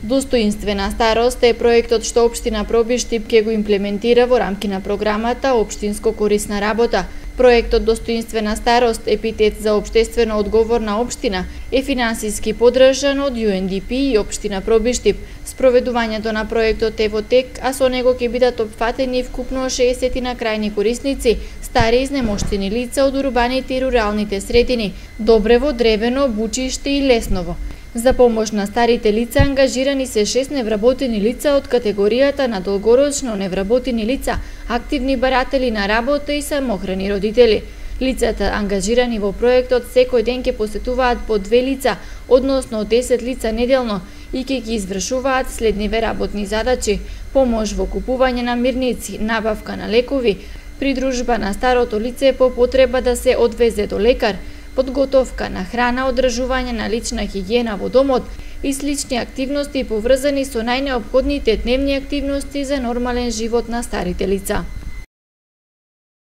Достоинствена старост е проектот што општина Пробиштип ќе го имплементира во рамки на програмата Општинско корисна работа. Проектот Достоинствена старост, епитет за општествено одговорна општина, е финансиски поддржан од UNDP и општина Пробиштип. Спроведувањето на проектот е во тек, а со него ќе бидат опфатени вкупно 60 на крајни корисници, стари изнемоштени лица од урбаните и руралните средини, Добрево, Древено, Бучиште и Лесново. За помош на старите лица ангажирани се 6 невработени лица од категоријата на долгорочно невработени лица, активни баратели на работа и самохрани родители. Лицата ангажирани во проектот секој ден ќе посетуваат по 2 лица, односно 10 лица неделно, и ќе ги извршуваат следниве работни задачи: помош во купување на мирници, набавка на лекови, придружба на старото лице по потреба да се одвезе до лекар, подготовка на храна, одржување на лична хигиена во домот и слични активности поврзани со најнеопходните дневни активности за нормален живот на старите лица.